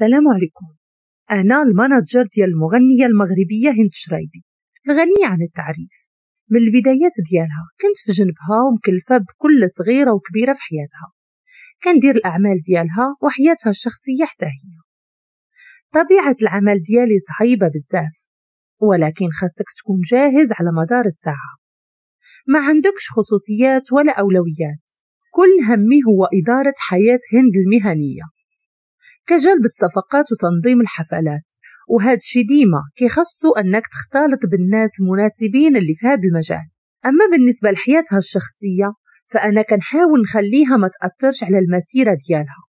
السلام عليكم، أنا ال manager ديال المغنية المغربية هند الشرايبي الغنية عن التعريف. من البدايات ديالها كنت في جنبها ومكلفة بكل صغيرة وكبيرة في حياتها، كندير الأعمال ديالها وحياتها الشخصية حتى هي. طبيعة العمل ديالي صعيبة بزاف، ولكن خاصك تكون جاهز على مدار الساعة، ما عندكش خصوصيات ولا أولويات. كل همي هو إدارة حياة هند المهنية كجلب الصفقات وتنظيم الحفلات، وهذا الشيء ديما كيخصو أنك تختلط بالناس المناسبين اللي في هذا المجال. أما بالنسبة لحياتها الشخصية فأنا كنحاول نخليها ما تأثرش على المسيرة ديالها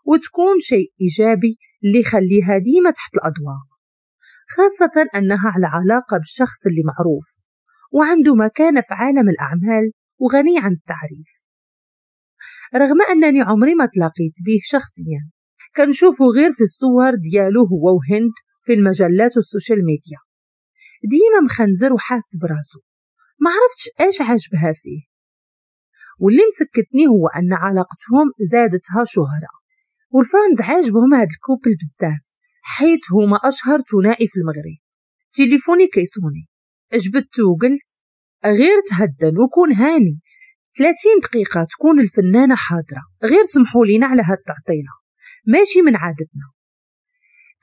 وتكون شيء إيجابي اللي يخليها ديما تحت الأضواء، خاصة أنها على علاقة بالشخص اللي معروف وعنده مكانة في عالم الأعمال وغني عن التعريف. رغم أنني عمري ما تلاقيت به شخصيا، كنشوفه غير في الصور ديالو هو وهند في المجلات وال social media، ديما مخنزر وحاس براسو، ما عرفتش ايش عاجبها فيه. واللي مسكتني هو أن علاقتهم زادتها شهرة، وال fans عاجبهم هاد ال couple بزاف حيث هما أشهر ثنائي في المغرب. تليفوني كيصوني، جبدته وقلت غير تهدن وكون هاني، 30 دقيقة تكون الفنانة حاضرة، غير سمحوا لينا على هاد التعطيلة، ماشي من عادتنا.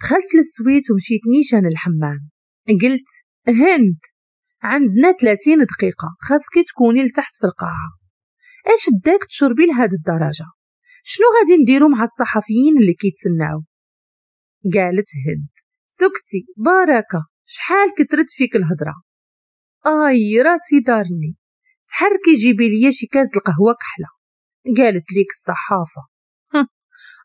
دخلت لل suite ومشيت نيشان الحمام، قلت هند عندنا 30 دقيقة خاصك تكوني لتحت في القاعة، اش داك تشربي لهاد الدرجة؟ شنو غادي نديرو مع الصحفيين اللي كيتسناو؟ قالت هند سكتي بركة، شحال كترت فيك الهضرة. اي راسي دارني، تحركي جيبي ليا شي كاس القهوة كحلة. قالت ليك الصحافة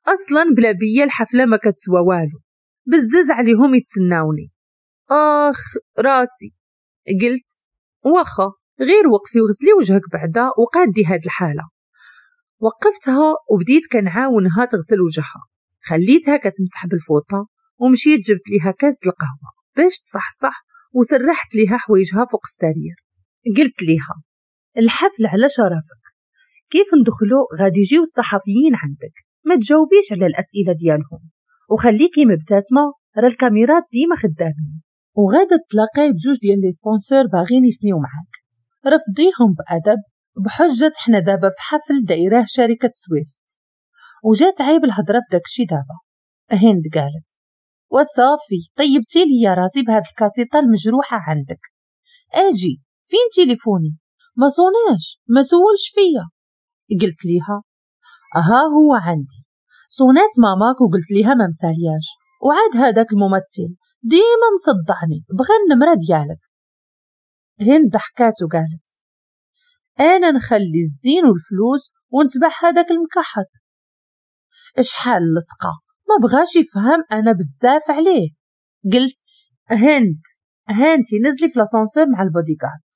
اصلا بلا بيا الحفلة ما كتسوى والو، بزز عليهم يتسناوني. اخ راسي. قلت واخا غير وقفي وغسلي وجهك بعدا وقادي هاد الحالة. وقفتها وبديت كنعاونها تغسل وجهها، خليتها كتمسح بالفوطة ومشيت جبت ليها كاس القهوة باش تصحصح، وسرحت ليها حوايجها فوق السرير. قلت ليها الحفل على شرفك، كيف ندخلو غادي يجيو الصحفيين عندك، ما تجاوبيش على الأسئلة ديالهم وخليكي مبتسمة، راه الكاميرات ديما خدامين، وغادا تلاقاي بجوج ديال les sponsors باغيين يسنيو معاك، رفضيهم بأدب بحجة حنا دابا في حفل دايراه شركة سويفت، وجات عيب الهضرة في داكشي دابا. هند قالت وصافي طيبتي لي راسي بهاد الكاسيطة المجروحة عندك، اجي فين تليفوني؟ ما صوناش ما سولش فيا. قلت ليها ها هو عندي، صونات ماماك وقلت ليها ما مسالياش، وعاد هذاك الممثل ديما مصدعني بغى النمرة ديالك. هند ضحكات وقالت انا نخلي الزين والفلوس ونتبع هذاك المكحط، اشحال لصقه ما بغاش يفهم انا بزاف عليه. قلت هند هانتي نزلي في l'ascenseur مع البودي جارد،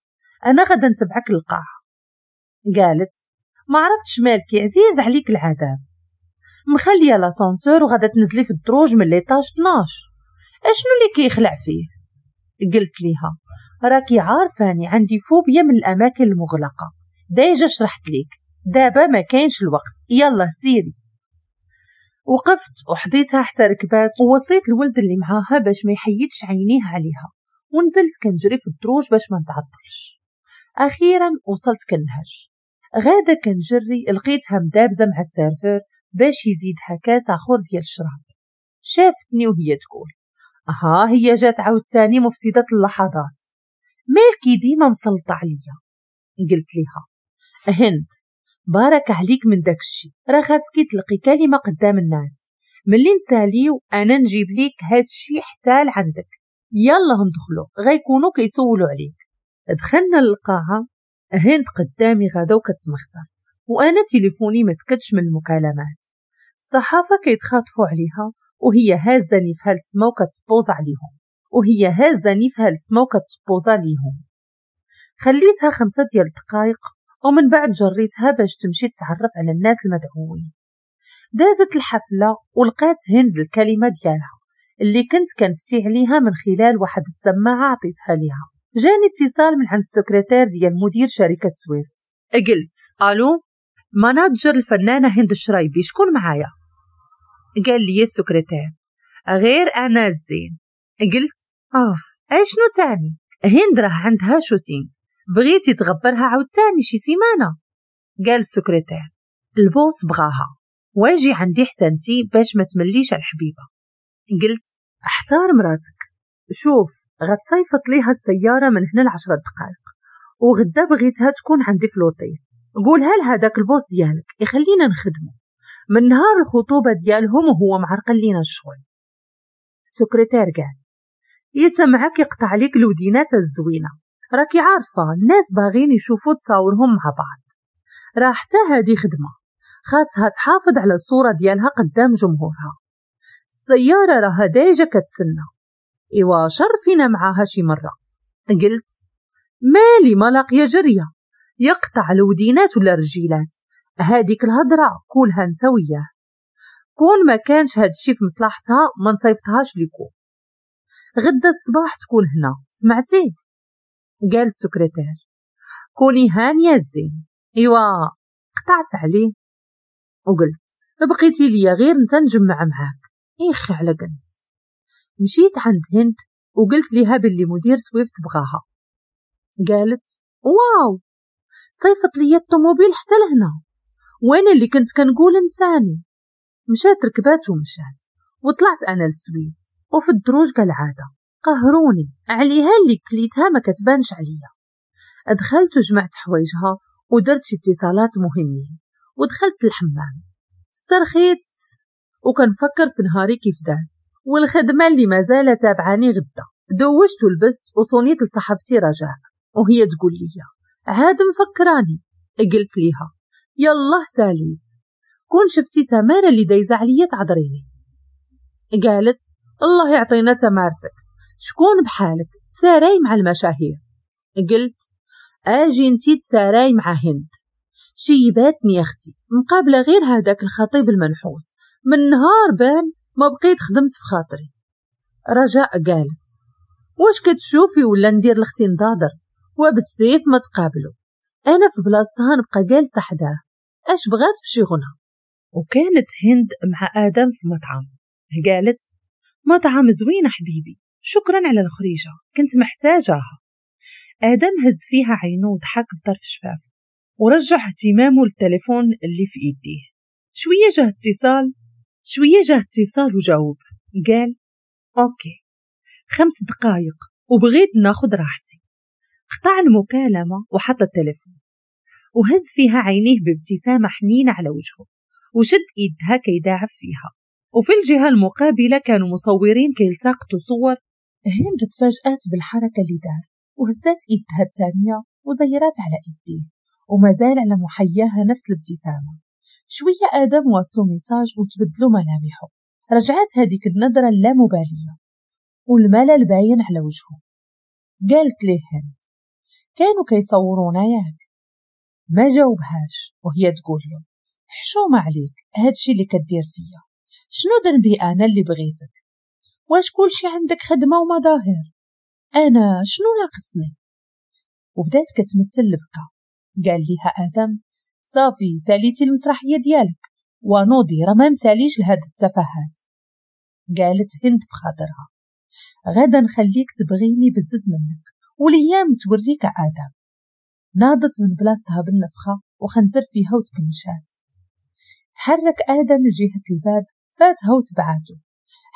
انا غدا نتبعك للقاعه. قالت ما عرفتش مالكي عزيز عليك العذاب، مخليه l'ascenseur وغادا تنزلي في الدروج من l'étage 12، اشنو اللي كيخلع فيه؟ قلت ليها راكي عارفاني عندي فوبيا من الاماكن المغلقة، déjà شرحت ليك، دابا ما كاينش الوقت، يلا سيري. وقفت وحضيتها حتى ركبات، ووصيت الولد اللي معاها باش ما يحيدش عينيه عليها، ونزلت كنجري في الدروج باش ما نتعطلش. اخيرا وصلت كنهج، غادا كنجري لقيتها مدابزه مع ال serveur باش يزيدها كاس اخر ديال الشراب. شافتني وهي تقول ها هي جات عاوتاني مفسدة اللحظات، مالكي ديما مسلطة عليا. قلت ليها هند بارك عليك من داكشي، راه خاصكي تلقي كلمة قدام الناس، ملي نساليو انا نجيب ليك هادشي حتى لعندك، يلا ندخلو غيكونوا كيسولوا عليك. دخلنا للقاعة، هند قدامي غادا وكتمختر، وانا تليفوني ما سكتش من المكالمات، الصحافة كيتخاطفوا عليها وهي هازة نيفها للسما وكتبوز عليهم، وهي هازة نيفها للسما وكتبوزا ليهم. خليتها 5 ديال الدقائق ومن بعد جريتها باش تمشي تتعرف على الناس المدعوين. دازت الحفلة ولقات هند الكلمة ديالها اللي كنت كنفتي عليها من خلال واحد السماعة عطيتها ليها. جاني اتصال من عند السكرتير ديال مدير شركة سويفت. قلت الو manager الفنانة هند الشرايبي، شكون معايا؟ قال لي السكرتير غير انا الزين. قلت اوف اشنو تاني؟ هند راه عندها shooting، بغيتي تغبرها عاوتاني شي سيمانه؟ قال السكرتير ال boss بغاها، واجي عندي حتى انتي باش ما تمليش على الحبيبة. قلت احترم راسك، شوف غتصيفط ليها السيارة من هنا ل10 دقائق، وغدا بغيتها تكون عندي في لوطيل. قولها لهداك ال boss ديالك يخلينا نخدمو، من نهار الخطوبة ديالهم وهو معرقل لينا الشغل. السكرتير قال يسمعك يقطع ليك الودينات الزوينة، راكي عارفه الناس باغين يشوفوا تصاورهم مع بعض، راه حتى هادي خدمة خاصها تحافظ على الصورة ديالها قدام جمهورها. السيارة راها déjà كتسنى، ايوا شرفينا معاها شي مرة. قلت مالي ما لاقيه جريه، يقطع الودينات ولا الرجيلات، هاديك الهضرة كولها انت وياه، كون ما كانش هادشي في مصلحتها ما نصيفطهاش ليكو. غدا الصباح تكون هنا، سمعتي؟ قال السكرتير كوني هانيه الزين. ايوا قطعت عليه وقلت بقيتي ليا غير انت نجمع معاك، اخي على قنت. مشيت عند هند وقلت ليها باللي مدير سويفت بغاها. قالت واو صيفط ليا الطوموبيل حتى لهنا، وانا اللي كنت كنقول انساني. مشات ركبات ومشات، وطلعت انا لل suite، وفي الدروج كالعادة قهروني عليها اللي كليتها ما كتبانش عليا. دخلت وجمعت حوايجها ودرت شي اتصالات مهمين، ودخلت الحمام استرخيت وكنفكر في نهاري كيف داز والخدمة اللي مازال تابعاني غدا. دوشت ولبست وصونيت لصاحبتي رجاء، وهي تقول لي عاد مفكراني. قلت ليها يلا ساليت، كون شفتي تمارة اللي دايزه عليا تعذريني. قالت الله يعطينا تمارتك، شكون بحالك تساراي مع المشاهير. قلت اجي انتي تساراي مع هند، شيباتني يا اختي مقابله غير هذاك الخطيب المنحوس، من نهار بان ما بقيت خدمت في خاطري. رجاء قالت واش كتشوفي ولا ندير لختي نضادر وبالسيف ما تقابلوا، انا في بلاصتها نبقى جالسة حداه، اش بغات بشي غنى. وكانت هند مع ادم في مطعم. قالت مطعم زوين حبيبي، شكرا على الخريجه كنت محتاجاها. ادم هز فيها عينه وضحك بطرف شفافة ورجع اهتمامه للتليفون اللي في ايديه. شوية جاه اتصال وجاوب. قال okay 5 دقائق وبغيت ناخد راحتي. قطع المكالمة وحط التليفون وهز فيها عينيه بابتسامة حنينه على وجهه وشد ايدها كيداعب فيها. وفي الجهة المقابلة كانوا مصورين كيلتقطوا صور. هند تفاجأت بالحركة اللي دار وهزت ايدها الثانية وزيرات على ايديه وما زال على محياها نفس الابتسامة. شوية ادم واصلوا message وتبدلوا ملامحه، رجعت هذيك النظرة اللامباليه والملل باين على وجهه. قالت ليه هند كانوا كيصورونا ياك؟ ما جاوبهاش وهي تقول له حشومه عليك هادشي اللي كدير فيا، شنو ذنبي انا اللي بغيتك؟ واش كلشي عندك خدمة ومظاهر، انا شنو ناقصني؟ وبدات كتمثل البكا. قال لها ادم صافي ساليتي المسرحية ديالك ونوضي راه ما مساليش لهاد التفاهات. قالت هند في خاطرها غدا نخليك تبغيني بزز منك والايام توريك ادم. ناضت من بلاصتها بالنفخه وخنزر فيها وتكمشات. تحرك ادم لجهة الباب، فاتها وتبعاته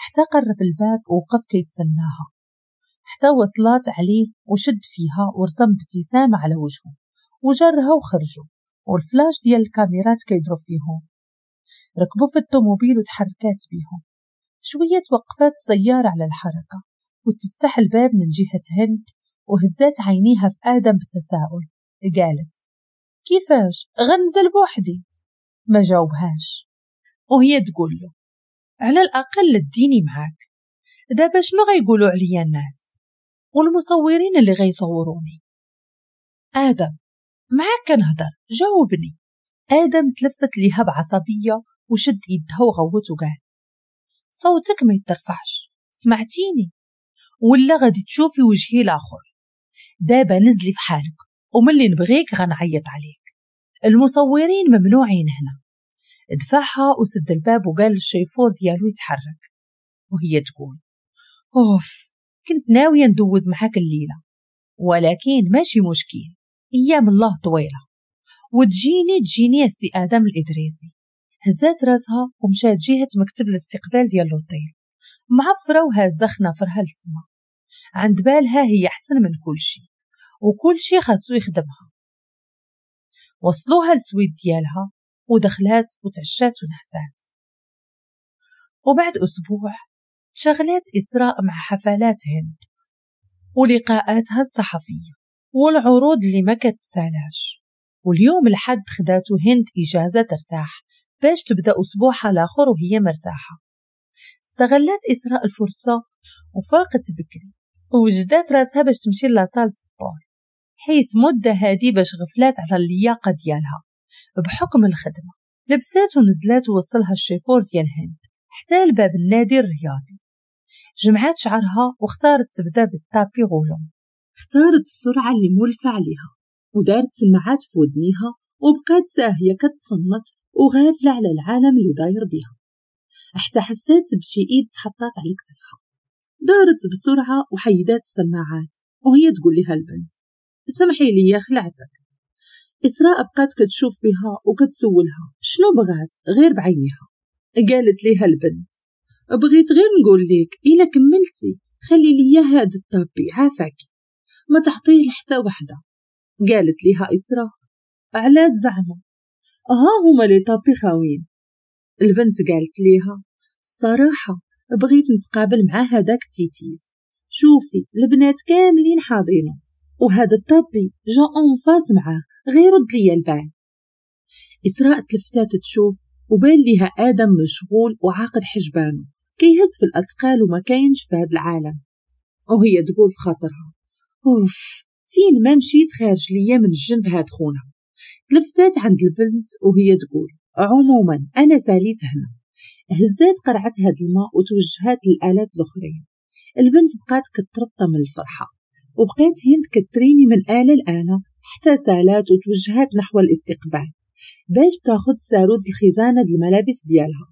حتى قرب الباب ووقف كيتسناها حتى وصلات عليه وشد فيها ورسم ابتسامة على وجهه وجرها وخرجوا، والفلاش ديال الكاميرات كيضرب فيهم. ركبوا في الطوموبيل وتحركات بيهم. شوية توقفات السيارة على الحركة وتفتح الباب من جهة هند وهزات عينيها في آدم بتساؤل. قالت كيفاش غنزل بوحدي؟ ما جاوبهاش وهي تقول له على الأقل اديني معاك، دابا شنو غيقولوا عليا الناس والمصورين اللي غيصوروني؟ آدم معاك كنهضر جاوبني. آدم تلفت ليها بعصبية وشد يدها وغوت وقال صوتك ما يترفعش، سمعتيني ولا غادي تشوفي وجهي الآخر؟ دابا نزلي في حالك وملي نبغيك غنعيط عليك، المصورين ممنوعين هنا. دفعها وسد الباب وقال للشيفور ديالو يتحرك. وهي تقول أوف، كنت ناوية ندوز معاك الليلة، ولكن ماشي مشكل، أيام الله طويلة وتجيني تجيني السي آدم الإدريسي. هزات راسها ومشات جهة مكتب الاستقبال ديال الأوتيل معفرة وهازة خنافرها للسما. عند بالها هي أحسن من كل شي وكل شي خاصو يخدمها. وصلوها لل suite ديالها ودخلات وتعشات ونعسات. وبعد أسبوع شغلات إسراء مع حفلات هند ولقاءاتها الصحفية والعروض اللي ما كتسالاش. واليوم الحد خداتو هند إجازة ترتاح باش تبدأ أسبوعها الآخر وهي مرتاحة. استغلت إسراء الفرصة وفاقت بكري ووجدات راسها باش تمشي la salle sport، حيت مدة هادي باش غفلات على اللياقة ديالها بحكم الخدمة. لبسات ونزلات ووصلها الشيفور ديال هند حتى لباب النادي الرياضي. جمعات شعرها واختارت تبدا بال tapis roulant. اختارت السرعة اللي مولفة عليها ودارت سماعات في ودنيها وبقات ساهية كتصنت وغافلة على العالم اللي داير بيها، حتى حسات بشي ايد تحطات على كتفها. دارت بسرعة وحيدات السماعات وهي تقول لها البنت سمحي لي خلعتك. إسراء بقات كتشوف فيها وكتسولها شنو بغات غير بعينيها. قالت ليها البنت بغيت غير نقول لك إلا كملتي خلي لي هاد ال tapis عافاكي، ما تعطيه لحتى وحده. قالت ليها إسراء على الزعمة ها هما les tapis خاويين. البنت قالت ليها الصراحة بغيت نتقابل مع هذاك التيتيز، شوفي البنات كاملين حاضرين وهذا ال tapis جا en face معاه، غير رد ليا البال. إسراء تلفتات تشوف وبان ليها آدم مشغول وعاقد حجبانه كيهز في الأثقال وما كاينش في هذا العالم. وهي تقول في خاطرها أوف فين ما مشيت خارج ليا من الجنب هاد خونا. تلفتات عند البنت وهي تقول عموما أنا ساليت هنا. هزات قرعة هاد الماء وتوجهات للآلات الأخرين. البنت بقات كترطى من الفرحة وبقات هند كتريني من آلة لآلة حتى سالات وتوجهات نحو الاستقبال باش تاخد سارود الخزانة د الملابس ديالها.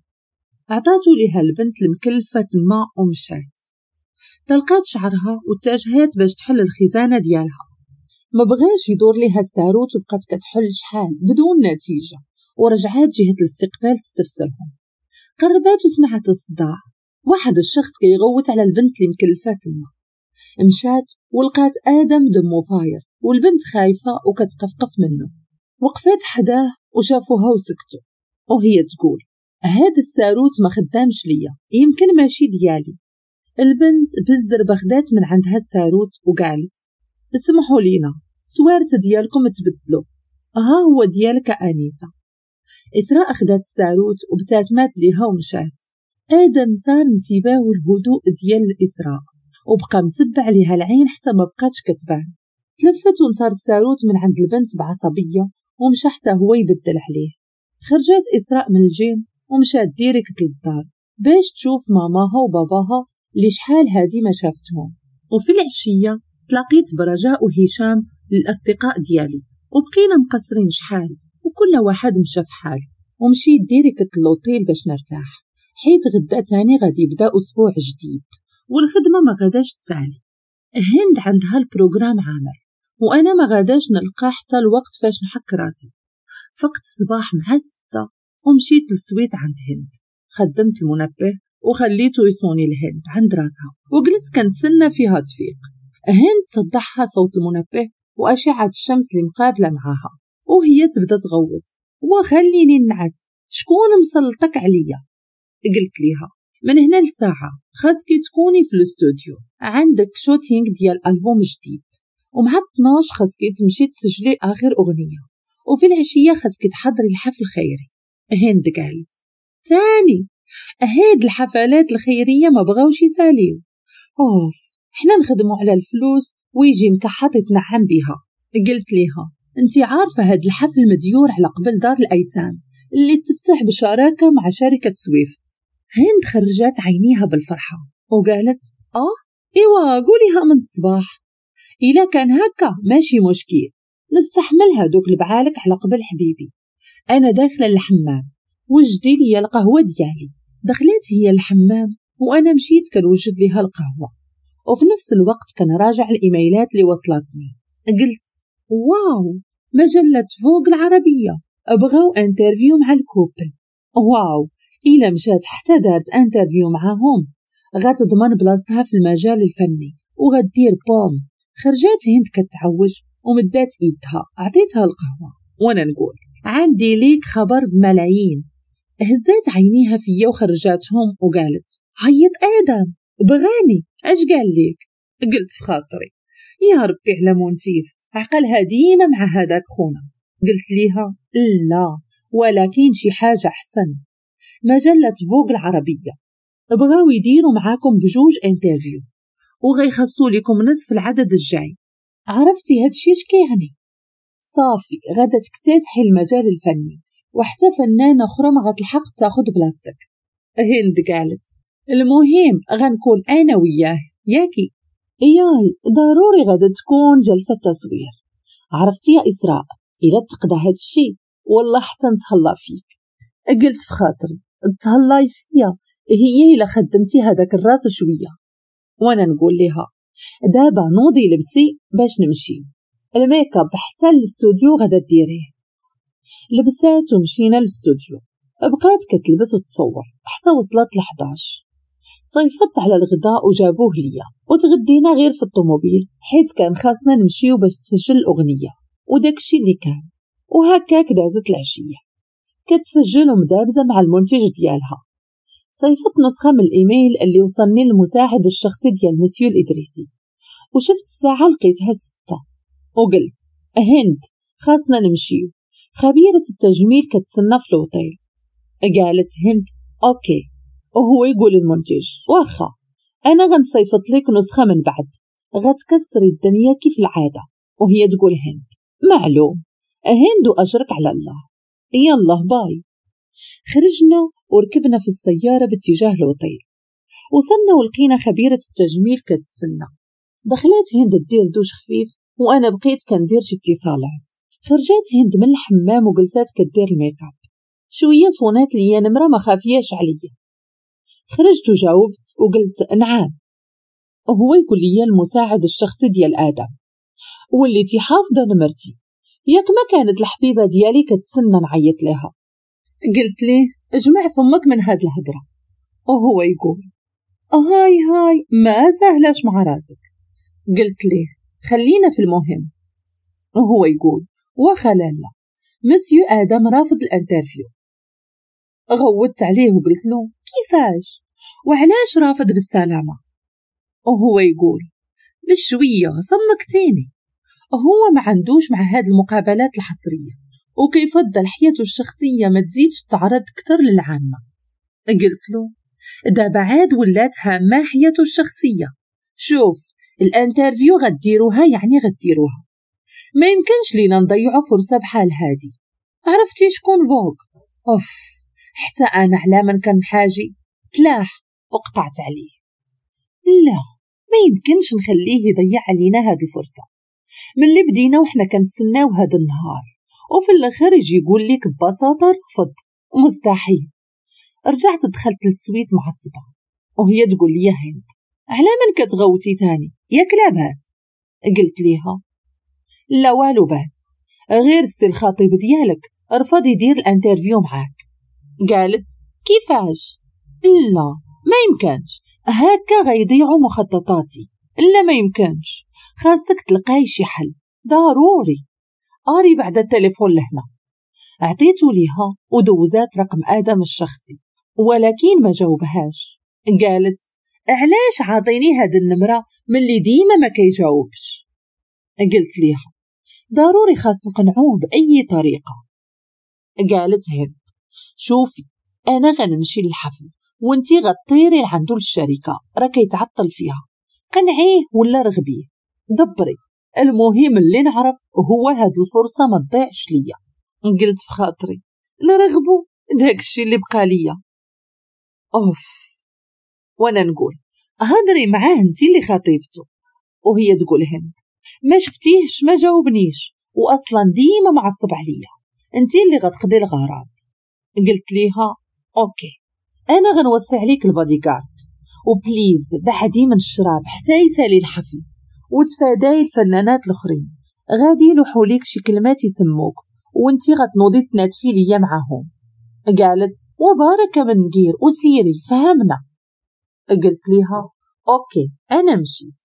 عطاتو ليها البنت المكلفة تما ومشات. طلقات شعرها واتجهات باش تحل الخزانة ديالها. ما بغاش يدور ليها الساروت وبقات كتحل شحال بدون نتيجة، ورجعات جهة الاستقبال تستفسرهم. قربات وسمعت الصداع، واحد الشخص كيغوت على البنت اللي مكلفة تما. مشات ولقات آدم دمو فاير والبنت خايفة وكتقفقف منه. وقفات حداه وشافوها وسكتوا، وهي تقول هاد الساروت ما خدامش ليا، يمكن ماشي ديالي. البنت بالزربة خدات من عندها الساروت وقالت اسمحوا لينا سوارت ديالكم تبدلوا، ها هو ديالك أنيسة. إسراء خدات الساروت وابتسمت ليها ومشات. آدم تار انتباهه الهدوء ديال إسراء وبقى متبع ليها العين حتى ما بقاتش كتبان. تلفت ونطار الساروت من عند البنت بعصبية ومشى حتى هو يبدل عليه. خرجت إسراء من الجيم ومشات direct للدار باش تشوف ماماها وباباها اللي شحال هادي ما شافتهم. وفي العشية تلاقيت برجاء وهشام للأصدقاء ديالي وبقينا مقصرين شحال وكل واحد مشى في حاله. ومشيت direct للوطيل باش نرتاح حيت غدا تاني غادي يبدا أسبوع جديد والخدمة ما غاداش تسالي. هند عندها ال programme عامر وأنا ما غاداش نلقى حتى الوقت فاش نحك راسي. فقت الصباح مع 6 ومشيت لل suite عند هند. خدمت المنبه وخليته يصوني لهند عند راسها وجلست كنتسنى فيها تفيق. هند صدحها صوت المنبه وأشعة الشمس اللي مقابلة معاها وهي تبدا تغوت وخليني نعس، شكون مسلطك عليا؟ قلت ليها من هنا لساعة خاصك تكوني في الاستوديو، عندك shooting ديال ألبوم جديد، ومع 12 خاصك تمشي تسجلي آخر أغنية، وفي العشية خاصك تحضري الحفل الخيري. هند قالت تاني هاد الحفلات الخيرية ما بغاوش يساليو، أوف حنا نخدمو على الفلوس ويجي مكحط يتنعم بها. قلت ليها انتي عارفة هاد الحفل مديور على قبل دار الأيتام اللي تفتح بشراكة مع شركة سويفت. هند خرجت عينيها بالفرحة وقالت ايوا قوليها من الصباح، إلا كان هكا ماشي مشكل نستحملها دوك البعالك على قبل حبيبي. أنا داخلة الحمام وجدي لي القهوة ديالي. دخلت هي الحمام وأنا مشيت كنوجد ليها القهوة، وفي نفس الوقت كنراجع الإيميلات اللي وصلتني. قلت واو، مجلة Vogue العربية بغاو interview مع ال couple. واو، إلا مشات حتى دارت interview معاهم غتضمن بلاصتها في المجال الفني وغدير boom. خرجات هند كتعوج ومدات ايدها، عطيتها القهوة وانا نقول عندي ليك خبر بملايين. هزات عينيها فيا وخرجاتهم وقالت عيط آدم بغاني، اش قال ليك؟ قلت في خاطري يا ربي على مونتيف، عقلها ديما مع هذاك خونا. قلت ليها لا، ولكن شي حاجة أحسن، مجلة Vogue العربية بغاو يديروا معاكم بجوج interview وغيخصوا لكم نصف العدد الجاي. عرفتي هادشي اش كيعني؟ صافي غادا تكتسحي المجال الفني وحتى فنانة أخرى ما غتلحق تاخد بلاصتك. هند قالت المهم غنكون أنا وياه ياكي؟ ياي ضروري غادا تكون جلسة تصوير. عرفتي يا إسراء إلا تقضى هادشي والله حتى نتهلا فيك. قلت في خاطري تهلاي فيا هي إلا خدمتي هذاك الراس شوية. وانا نقول لها دابا نوضي لبسي باش نمشي، الميك اب حتى للاستوديو غادا ديريه. لبسات ومشينا للاستوديو، بقات كتلبس وتصور حتى وصلت ل11. صيفطت على الغداء وجابوه ليا وتغدينا غير في الطوموبيل حيت كان خاصنا نمشيو باش تسجل الأغنية وداكشي اللي كان. وهكاك دازت العشية كتسجل ومدابزة مع المنتج ديالها. صيفط نسخة من الإيميل اللي وصلني للمساعد الشخصي ديال مسيو الإدريسي، وشفت الساعة لقيتها 6، وقلت هند خاصنا نمشيو، خبيرة التجميل كتسنى في الأوتيل. قالت هند okay، وهو يقول المنتج واخا أنا غنصيفط لك نسخة من بعد غتكسري الدنيا كيف العادة. وهي تقول هند معلوم، هند وأجرك على الله، يلا bye. خرجنا وركبنا في السيارة باتجاه الأوتيل. وصلنا ولقينا خبيرة التجميل كتسنى. دخلت هند دير دوش خفيف وأنا بقيت كندير شي اتصالات. خرجت هند من الحمام وجلسات كدير الميك اب. شوية صونات ليا نمرة ما خافياش عليا. خرجت وجاوبت وقلت نعم، وهو يقول لي المساعد الشخصي ديال آدم واللي حافظة نمرتي، ياك ما كانت الحبيبة ديالي كتسنى نعيط لها. قلت ليه اجمع فمك من هاد الهضرة، وهو يقول هاي هاي ما سهلاش مع راسك. قلت ليه خلينا في المهم، وهو يقول واخا لالا مسيو آدم رافض ال interview. غوّت عليه وقلت له كيفاش وعلاش رافض بالسلامة؟ وهو يقول بشوية صمكتيني، هو ما عندوش مع هاد المقابلات الحصرية وكيفضل حياته الشخصية ما تزيدش تعرض كتر للعامة. قلت له دابا عاد ولات هامة حياته الشخصية، شوف ال interview غديروها يعني غديروها، ما يمكنش لينا نضيعوا فرصة بحال هادي. عرفتي شكون Vogue؟ اوف حتى انا على من كان حاجي تلاح وقطعت عليه. لا ما يمكنش نخليه يضيع علينا هاد الفرصة، من اللي بدينا وحنا كنتسناو هاد النهار وفي الاخر يجي يقول لك ببساطة رفض، مستحيل. رجعت دخلت لل suite معصبة وهي تقول لي يا هند على من كتغوتي تاني ياك لاباس؟ قلت ليها لا والو باس، غير السي الخطيب ديالك رفض يدير ال interview معاك. قالت كيفاش؟ لا ما يمكنش، هكا غيضيعوا مخططاتي، لا ما يمكنش، خاصك تلقاي شي حل ضروري. قاري بعد التليفون لهنا. عطيته ليها ودوزات رقم آدم الشخصي ولكن ما جاوبهاش. قالت علاش عاطيني هاد النمرة ملي ديما ما كيجاوبش؟ قلت ليها ضروري خاص نقنعوه بأي طريقة. قالت هند شوفي أنا غنمشي للحفل وانتي غطيري لعندو للشركة راه كيتعطل فيها، قنعيه ولا رغبيه دبري، المهم اللي نعرف هو هاد الفرصة ما تضيعش ليا. قلت في خاطري نرغبو داكشي اللي بقى ليا. اوف وانا نقول هضري معاه انتي اللي خطيبته، وهي تقول هند ما شفتيهش ما جاوبنيش واصلا ديما معصب عليا، انتي اللي غتقضي الغرض. قلت ليها okay انا غنوصي عليك البادي جارد و please بعدي من الشراب حتى يسالي الحفل وتفاداي الفنانات الاخرين، غادي يلوحوا ليك شي كلمات يسموك وانتي غتنوضي تناتفي ليا معاهم. قالت وبارك من نقير وسيري فهمنا. قلت ليها OK انا مشيت.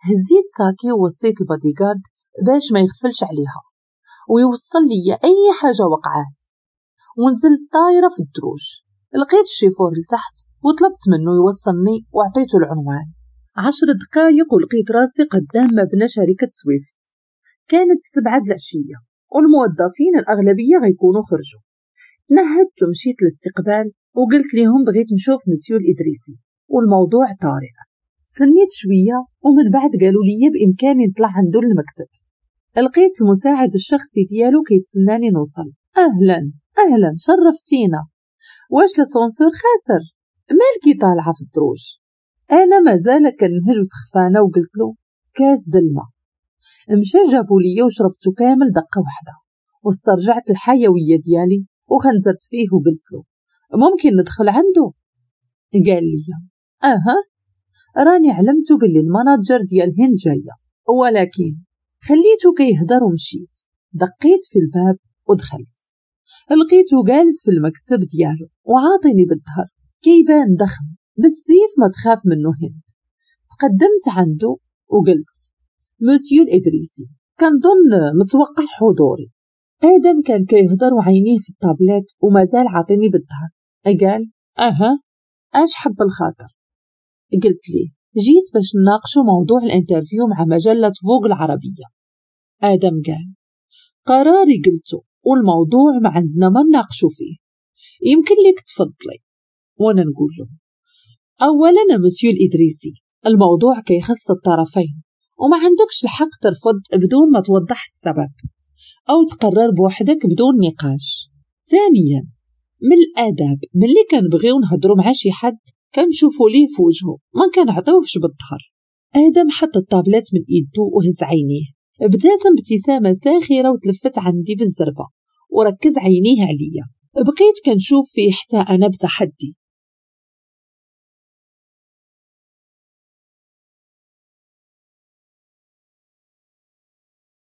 هزيت ساكي ووصيت البادي جارد باش ما يغفلش عليها ويوصل لي اي حاجة وقعات، ونزلت طايره في الدروج. لقيت الشيفور لتحت وطلبت منه يوصلني وعطيته العنوان. 10 دقايق ولقيت راسي قدام مبنى شركة سويفت. كانت 7 العشية والموظفين الأغلبية غيكونوا خرجوا. تنهدت ومشيت للاستقبال وقلت لهم بغيت نشوف مسيو الإدريسي والموضوع طارئ. سنيت شوية ومن بعد قالوا لي بإمكاني نطلع عنده للمكتب. لقيت المساعد الشخصي ديالو كيتسناني نوصل. أهلا أهلا شرفتينا، واش l'ascenseur خاسر؟ مالكي طالعة في الدروج؟ أنا مازال كنهج وسخفانة وقلت له كاس دلما. مشى جابوا لي وشربته كامل دقة واحدة واسترجعت الحيوية ديالي وخنزرت فيه وقلت له ممكن ندخل عنده؟ قال لي اها، راني علمته باللي ال manager ديال هند جاية، ولكن خليته كيهضر ومشيت. دقيت في الباب ودخلت، لقيته جالس في المكتب ديالو وعاطيني بالظهر، كيبان ضخم بالسيف ما تخاف منه هند. تقدمت عنده وقلت مسيو الإدريسي كنظن متوقع حضوري. آدم كان كيهضر وعينيه في الطابلات ومازال عاطيني بالظهر. قال اها اش حب الخاطر؟ قلت ليه جيت باش نناقشوا موضوع ال interview مع مجلة فوغ العربية. آدم قال قراري قلته والموضوع ما عندنا ما نناقشوا فيه، يمكن لك تفضلي. وانا نقول له اولا مسيو الإدريسي الموضوع كيخص الطرفين وما عندكش الحق ترفض بدون ما توضح السبب أو تقرر بوحدك بدون نقاش. ثانيا من الآداب ملي كنبغيو نهضرو مع شي حد كنشوفو ليه في وجهه ما كنعطيوهش بالظهر. آدم حط الطابلات من إيدو وهز عينيه، ابتسم ابتسامة ساخرة وتلفت عندي بالزربة وركز عينيه عليا. بقيت كنشوف فيه حتى أنا بتحدي.